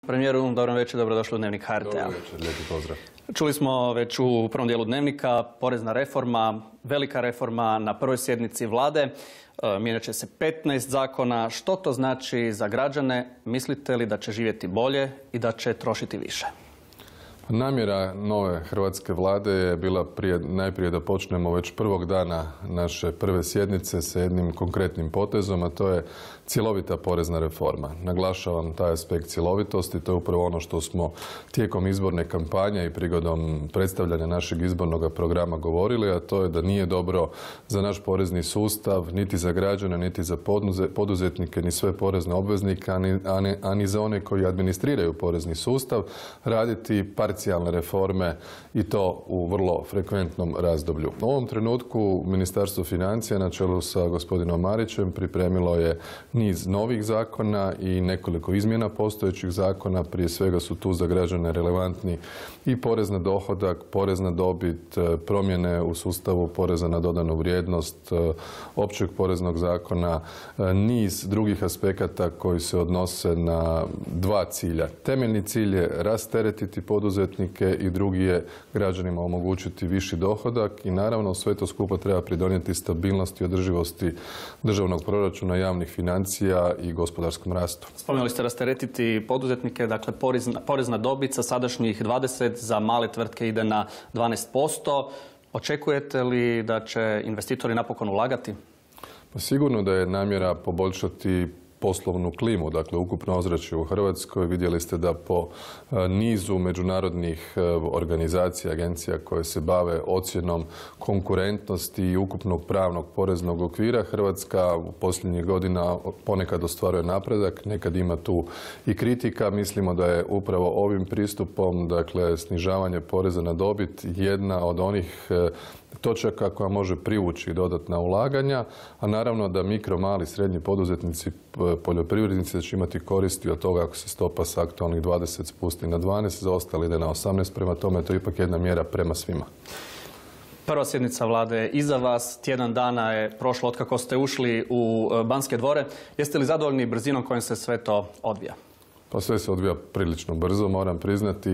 Premijeru, dobro večer, dobrodošli u Dnevnik HRT-a. Dobro večer, lijepi pozdrav. Čuli smo već u prvom dijelu Dnevnika, porezna reforma, velika reforma na prvoj sjednici vlade. Mijenjat će se 15 zakona. Što to znači za građane? Mislite li da će živjeti bolje i da će trošiti više? Namjera nove hrvatske vlade je bila najprije da počnemo već prvog dana naše prve sjednice sa jednim konkretnim potezom, a to je cjelovita porezna reforma. Naglašavam taj aspekt cjelovitosti, to je upravo ono što smo tijekom izborne kampanje i prigodom predstavljanja našeg izbornog programa govorili, a to je da nije dobro za naš porezni sustav, niti za građane, niti za poduzetnike, ni sve porezne obveznike, a ni za one koji administriraju porezni sustav, raditi parcijalne reforme i to u vrlo frekventnom razdoblju. U ovom trenutku Ministarstvo financija na čelu sa gospodinom Marićem pripremilo je niz novih zakona i nekoliko izmjena postojećih zakona. Prije svega su tu za građane relevantni i porez na dohodak, porez na dobit, promjene u sustavu poreza na dodanu vrijednost, općeg poreznog zakona, niz drugih aspekata koji se odnose na dva cilja. Temeljni cilj je rasteretiti poduzetnike i drugi je građanima omogućiti viši dohodak i naravno sve to skupa treba pridonijeti stabilnosti i održivosti državnog proračuna, javnih financija i gospodarskom rastu. Spomenuli ste rasteretiti poduzetnike, dakle porez na dobit sa sadašnjih 20 za male tvrtke ide na 12%. Očekujete li da će investitori napokon ulagati? Pa sigurno da je namjera poboljšati poslovnu klimu, dakle ukupno ozračje u Hrvatskoj. Vidjeli ste da po nizu međunarodnih organizacija, agencija koje se bave ocjenom konkurentnosti i ukupnog pravnog poreznog okvira, Hrvatska u posljednjih godina ponekad ostvaruje napredak, nekad ima tu i kritika. Mislimo da je upravo ovim pristupom, dakle snižavanje poreza na dobit, jedna od onih točaka koja može privući dodatna ulaganja, a naravno da mikro, mali, srednji poduzetnici, poljoprivrednici će imati koristi od toga ako se stopa s aktualnih 20 spusti na 12, za ostali ide na 18, prema tome to je ipak jedna mjera prema svima. Prva sjednica vlade je iza vas, tjedan dana je prošlo otkako ste ušli u Banske dvore. Jeste li zadovoljni brzinom kojom se sve to odvija? Pa sve se odvija prilično brzo, moram priznati.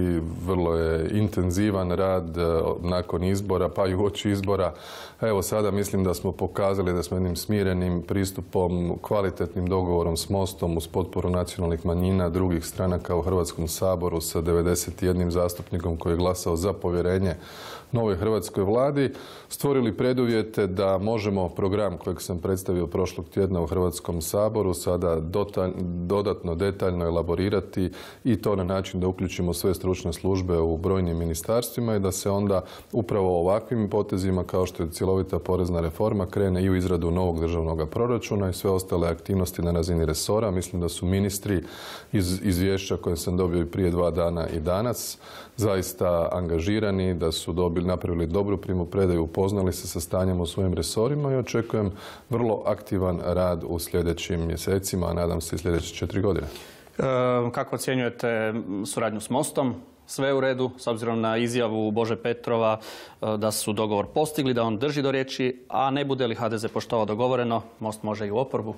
Vrlo je intenzivan rad nakon izbora, pa i uoči izbora. Evo sada mislim da smo pokazali da smo jednim smirenim pristupom, kvalitetnim dogovorom s Mostom uz potporu nacionalnih manjina, drugih stranaka u Hrvatskom saboru sa 91 zastupnikom koji je glasao za povjerenje novoj hrvatskoj vladi, stvorili preduvjete da možemo program kojeg sam predstavio prošlog tjedna u Hrvatskom saboru sada dodatno detaljno elaborirati i to na način da uključimo sve stručne službe u brojnim ministarstvima i da se onda upravo ovakvim potezima kao što je cjelovita porezna reforma krene i u izradu novog državnog proračuna i sve ostale aktivnosti na razini resora. Mislim da su ministri iz izvješća koje sam dobio i prije 2 dana i danas zaista angažirani, da su napravili dobru primopredaju, upoznali se sa stanjem u svojim resorima i očekujem vrlo aktivan rad u sljedećim mjesecima, a nadam se i sljedeće 4 godine. Kako ocjenjujete suradnju s Mostom? Sve u redu, s obzirom na izjavu Bože Petrova da su dogovor postigli, da on drži do riječi, a ne bude li HDZ poštovao dogovoreno, Most može i u oporbu?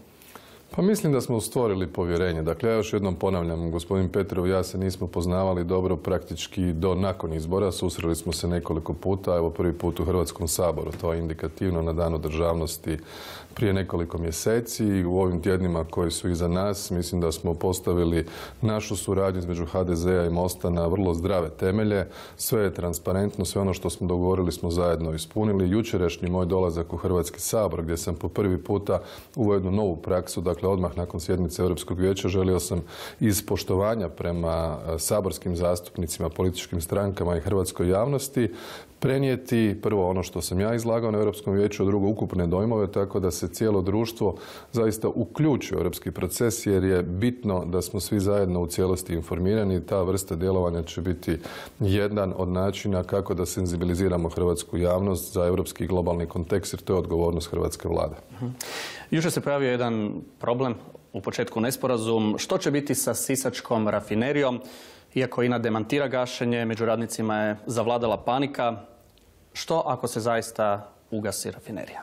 Pa mislim da smo stvorili povjerenje. Dakle, ja još jednom ponavljam, gospodin Petrov i ja se nismo poznavali dobro praktički do nakon izbora. Susreli smo se nekoliko puta, evo prvi put u Hrvatskom saboru. To je indikativno na Danu državnosti prije nekoliko mjeseci. U ovim tjednima koji su iza nas mislim da smo postavili našu suradnju između HDZ-a i Mosta na vrlo zdrave temelje. Sve je transparentno, sve ono što smo dogovorili smo zajedno ispunili. Jučerašnji moj dolazak u Hrvatski sabor gdje sam po prvi puta uveo jednu novu praksu, dakle odmah nakon sjednice Europskog vijeća želio sam iz poštovanja prema saborskim zastupnicima, političkim strankama i hrvatskoj javnosti prenijeti prvo ono što sam ja izlagao na Europskom vijeću, a drugo ukupne dojmove, tako da se cijelo društvo zaista uključi u europski proces jer je bitno da smo svi zajedno u cijelosti informirani i ta vrsta djelovanja će biti jedan od načina kako da senzibiliziramo hrvatsku javnost za europski i globalni kontekst jer to je odgovornost hrvatske vlade. Jučer se pojavio jedan problem, u početku nesporazum. Što će biti sa sisačkom rafinerijom? Iako INA demantira gašenje, među radnicima je zavladala panika. Što ako se zaista ugasi rafinerija?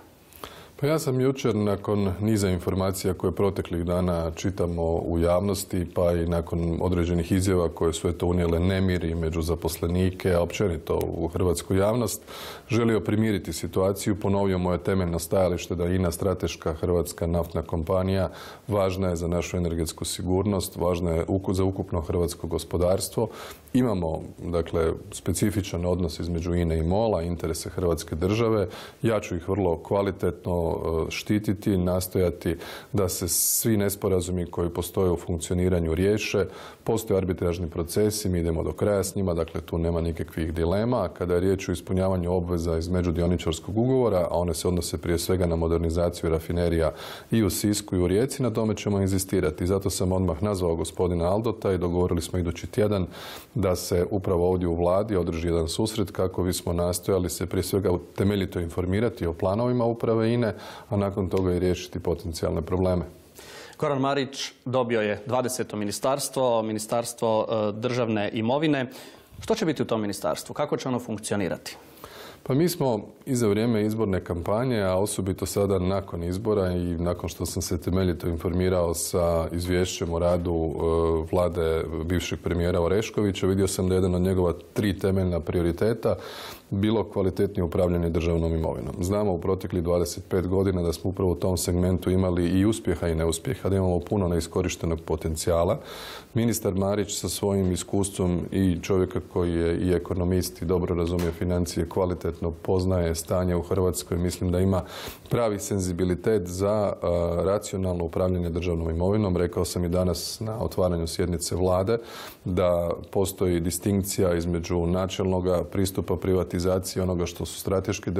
Pa ja sam jučer nakon niza informacija koje proteklih dana čitamo u javnosti, pa i nakon određenih izjava koje su unijele nemiri među zaposlenike, a općenito u hrvatsku javnost, želio primiriti situaciju, ponovio moje temeljno stajalište da INA, strateška hrvatska naftna kompanija, važna je za našu energetsku sigurnost, važna je za ukupno hrvatsko gospodarstvo. Imamo, dakle, specifičan odnos između INA i MOL-a, interese Hrvatske države. Ja ću ih vrlo kvalitetno štititi, nastojati da se svi nesporazumi koji postoje u funkcioniranju riješe. Postoje arbitražni procesi, mi idemo do kraja s njima, dakle tu nema nikakvih dilema. Kada je riječ o ispunjavanju obveza iz međudioničarskog ugovora, a one se odnose prije svega na modernizaciju rafinerija i u Sisku i u Rijeci, na tome ćemo inzistirati. Zato sam odmah nazvao gospodina Aldota i dogovorili smo idući tjedan da se upravo ovdje u vladi održi jedan susret kako bismo nastojali se prije svega temeljito informirati o planovima uprave INA-e, a nakon toga i riješiti potencijalne probleme. Goran Marić dobio je 20. ministarstvo državne imovine. Što će biti u tom ministarstvu? Kako će ono funkcionirati? Pa mi smo i za vrijeme izborne kampanje, a osobito sada nakon izbora i nakon što sam se temeljito informirao sa izvješćem o radu vlade bivšeg premijera Oreškovića, vidio sam da je jedan od njegova 3 temeljna prioriteta bilo kvalitetnije upravljanje državnom imovinom. Znamo u proteklih 25 godina da smo upravo u tom segmentu imali i uspjeha i neuspjeha, da imamo puno neiskorištenog potencijala. Ministar Marić sa svojim iskustvom i čovjeka koji je i ekonomist i dobro razumije financije, kvalitetno poznaje stanje u Hrvatskoj, mislim da ima pravi senzibilitet za racionalno upravljanje državnom imovinom. Rekao sam i danas na otvaranju sjednice vlade da postoji distinkcija između načelnog pristupa privatizacije onoga što su strateški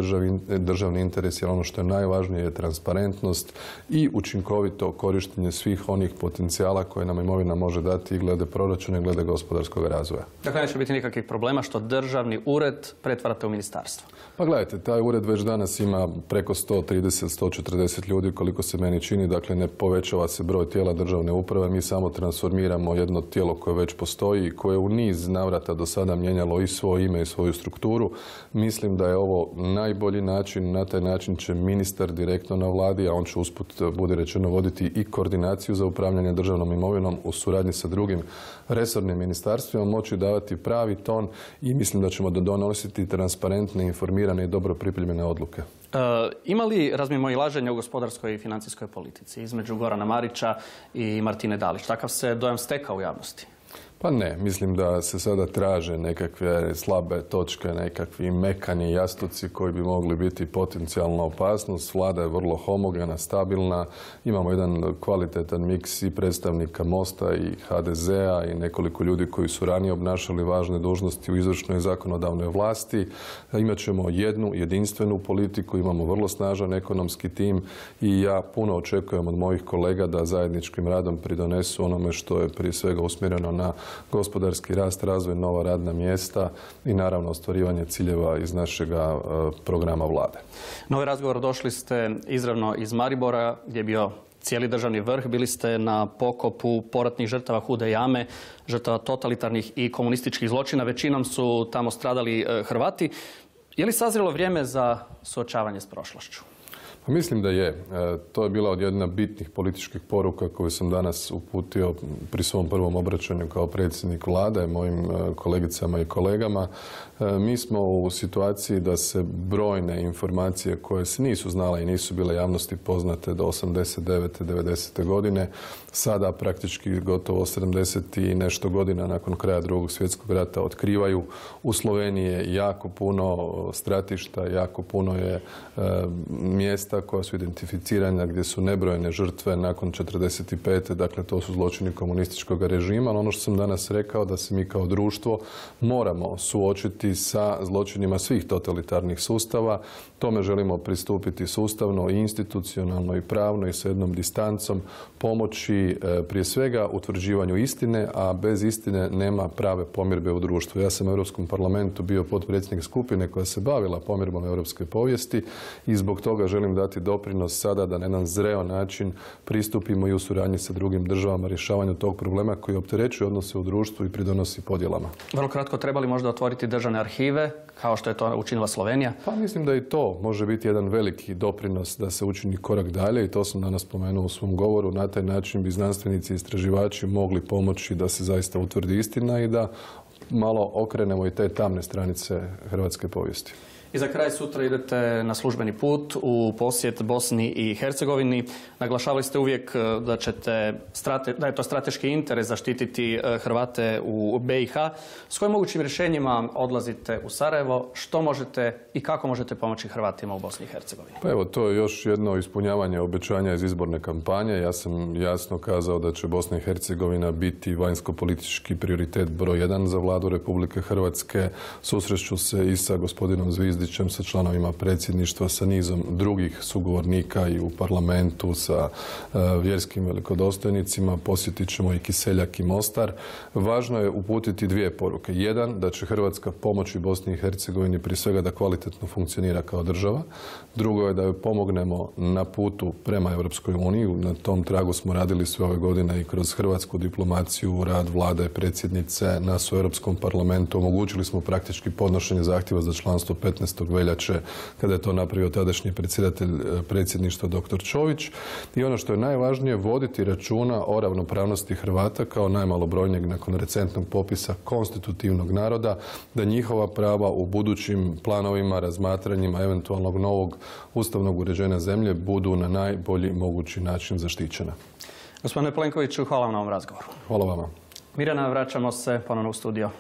državni interesi, ali ono što je najvažnije je transparentnost i učinkovito korištenje svih onih potencijala koje nam imovina može dati i glede proračuna i glede gospodarskog razvoja. Dakle, neće biti nikakvih problema što državni ured pretvarate u ministarstvo? Pa gledajte, taj ured već danas ima preko 130-140 ljudi koliko se meni čini, dakle ne povećava se broj tijela državne uprave, mi samo transformiramo jedno tijelo koje već postoji i koje u niz navrata do sada mijenjalo i svoje ime i svoju strukturu. Mislim da je ovo najbolji način, na taj način će ministar direktno na vladi, a on će usput, bude rečeno, voditi i koordinaciju za upravljanje državnom imovinom u suradnji sa drugim resornim ministarstvima, moći davati pravi ton i mislim da ćemo donositi transparentne, informirane i dobro pripremljene odluke. Ima li razmimoilaženja u gospodarskoj i financijskoj politici između Gorana Marića i Martine Dalić? Takav se dojam stekao u javnosti. Pa ne, mislim da se sada traže nekakve slabe točke, nekakvi mekani jastuci koji bi mogli biti potencijalna opasnost. Vlada je vrlo homogena, stabilna. Imamo jedan kvalitetan miks i predstavnika Mosta i HDZ-a i nekoliko ljudi koji su ranije obnašali važne dužnosti u izvršnoj i zakonodavnoj vlasti. Imaćemo jednu jedinstvenu politiku, imamo vrlo snažan ekonomski tim i ja puno očekujem od mojih kolega da zajedničkim radom pridonesu onome što je prije svega usmjereno na gospodarski rast, razvoj, nova radna mjesta i naravno ostvarivanje ciljeva iz našega programa vlade. Na ovaj razgovor došli ste izravno iz Maribora gdje je bio cijeli državni vrh. Bili ste na pokopu poratnih žrtava Hude jame, žrtava totalitarnih i komunističkih zločina. Većinom su tamo stradali Hrvati. Je li sazrelo vrijeme za suočavanje s prošlošću? Pa mislim da je. To je bila jedna od bitnih političkih poruka koju sam danas uputio pri svom prvom obraćanju kao predsjednik vlade, mojim kolegicama i kolegama. Mi smo u situaciji da se brojne informacije koje se nisu znale i nisu bile javnosti poznate do 89. 90. godine, sada praktički gotovo 70 i nešto godina nakon kraja Drugog svjetskog rata otkrivaju. U Sloveniji je jako puno stratišta, jako puno je mjesta koja su identificirana gdje su nebrojene žrtve nakon 45. Dakle, to su zločini komunističkog režima. Ali ono što sam danas rekao da se mi kao društvo moramo suočiti sa zločinima svih totalitarnih sustava. Tome želimo pristupiti sustavno i institucionalno i pravno i sa jednom distancom, pomoći prije svega utvrđivanju istine, a bez istine nema prave pomirbe u društvu. Ja sam u Europskom parlamentu bio potpredsjednik skupine koja se bavila pomirbom europske povijesti i zbog toga želim da dati doprinos sada da na jedan zreo način pristupimo i u suradnji sa drugim državama rješavanju tog problema koji opterećuje odnose u društvu i pridonosi podjelama. Vrlo kratko, treba li možda otvoriti državne arhive, kao što je to učinila Slovenija? Pa mislim da i to može biti jedan veliki doprinos da se učini korak dalje i to sam danas spomenuo u svom govoru. Na taj način bi znanstvenici i istraživači mogli pomoći da se zaista utvrdi istina i da malo okrenemo i te tamne stranice hrvatske povijesti. I za kraj, sutra idete na službeni put u posjet Bosni i Hercegovini. Naglašavali ste uvijek da je to strateški interes zaštititi Hrvate u BiH. S kojim mogućim rješenjima odlazite u Sarajevo? Što možete i kako možete pomoći Hrvatima u Bosni i Hercegovini? Pa evo, to je još jedno ispunjavanje obećanja iz izborne kampanje. Ja sam jasno kazao da će Bosna i Hercegovina biti vanjsko-politički prioritet broj 1 za vladu Republike Hrvatske. Susreću se i sa gospodinom Zvizdićem, sa članovima predsjedništva, sa nizom drugih sugovornika i u parlamentu, sa vjerskim velikodostojnicima. Posjetit ćemo i Kiseljak i Mostar. Važno je uputiti dvije poruke. Jedan, da će Hrvatska pomoći Bosni i Hercegovini prije svega da kvalitetno funkcionira kao država. Drugo je da joj pomognemo na putu prema Europskoj uniji. Na tom tragu smo radili sve ove godine i kroz hrvatsku diplomaciju, rad vlade, predsjednice, nas u Europskom parlamentu. Omogućili smo praktički podnošenje zahtjeva za članstvo 15. veljače, kada je to napravio tadašnji predsjedatelj predsjedništva dr. Čović. I ono što je najvažnije, voditi računa o ravnopravnosti Hrvata kao najmalobrojnijeg nakon recentnog popisa konstitutivnog naroda, da njihova prava u budućim planovima, razmatranjima eventualnog novog ustavnog uređenja zemlje budu na najbolji mogući način zaštićena. Gospodine Plenkoviću, hvala vam na ovom razgovoru. Hvala vama. Mirjana, vraćamo se ponovno u studio.